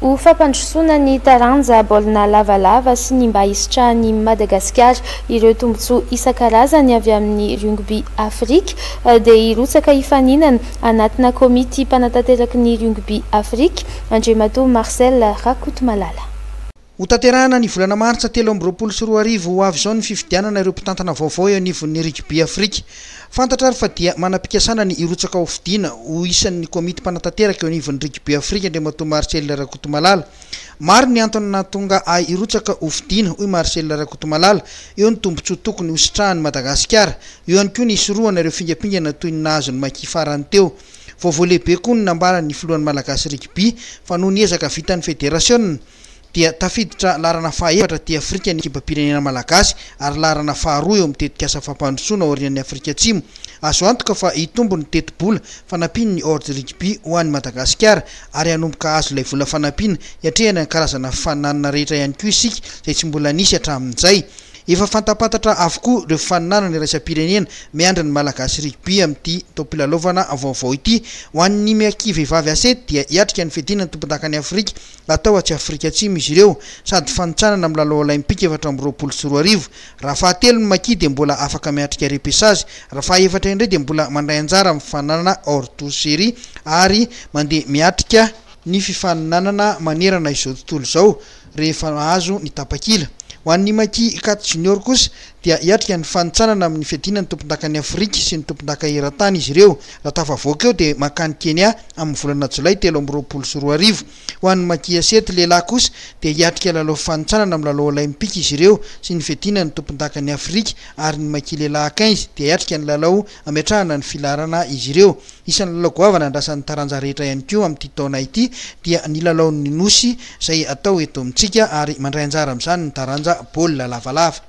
Ho fampandrosoana ny taranja baolina lavalava sy ny mba hisitrahan'i Madagasikara ireo tombontsoa isan-karazany avy amin'ny Rugby Afrika dia hirotsaka hifaninana anatina komity mpanatanteraky ny Rugby Afrika Andriamatoa Marcel Rakotomalala. Hotanterahina ny volana martsa 2023 ho avy izao ny fifidianana ireo mpitantana vaovao eo anivon'ny Rugby Afrika. Fantatra ary fa dia manam-pikasana ny hirotsaka ho fidiana ho isan'ny komity mpanatanteraka eo anivon'ny Rugby Afrika Andriamatoa Marcel Rakotomalala. Maro ny antony nahatonga ahy hirotsaka ho fidiana, hoy Marcel Rakotomalala. Eo ny tombontsoa tokony hositrahan'i Madagasikara. Eo ihany koa ny hisorohana ireo fingampingana toy ny nahazo ny Maki farany teo. Vaovao lehibe koa ny nambaran'ny filohan'ny Malagasy Rugby fa noho ny ezaka vitan'ny federasiona, dia tafiditra laharana fahaefatra aty Afrika ny ekipam-pirenena malagasy ary laharana faharoa eo amin'ny tetikasa fampandrosoana aorian'i Afrika Atsimo. Azo antoka fa hitombo ny tetibola fanampian'ny World Rugby ho an'i Madagasikara ary hanomboka hahazo ilay vola fanampiana hiatrehana ny karazana fifaninanana rehetra ihany koa isika izay tsy mbola nisy hatramin'izay. Efa fantapantatra avokoa ireo fifaninanana iraisam-pirenena miandry ny Malagasy Rugby amin'ity taom-pilalaovana vaovao ity. Ho an'ny Maki vehivavy Asety dia hiatrika ny fiadiana ny tompondakan'i Afrika Atao atsy Afrika Atsimo izy ireo, sady fanintsanana amin'ny lalao Olaimpika 2024. Raha fahatelo ny Maki dia mbola afaka miatrika repêchage, raha fahaefatra indray dia mbola mandray anjara amin'ny fifaninanana hors tour série ary mandeha miatrika ny fifaninanana manerana izao tontolo izao rehefa mahazo ny tapakila. Ho an'ny Maki Cat Junior kosa dia hiatrika ny fanintsanana amin'ny fiadiana ny tompondakan'i Afrika sy ny tompondaka eran-tany izy ireo. Raha tafavoaka eo dia mankany Kenya amin'ny volana jolay 2023. Ho an'ny Maki Asety lehilahy kosa dia hiatrika lalao fifanintsanana amin'ny lalao Olaimpika izy ireo sy ny fiadiana ny tompondakan'i Afrika ary ny Maki lehilahy quinze dia hiatrika ny lalao hametrahana ny filaharana izy ireo. Isan'ny lalao goavana andrasan'ny taranja rehetra ihany koa amin'ity taona ity dia ny lalaon'ny Nosy izay atao eto amintsika ary mandray anjara amin'izany ny taranja baolina lavalava.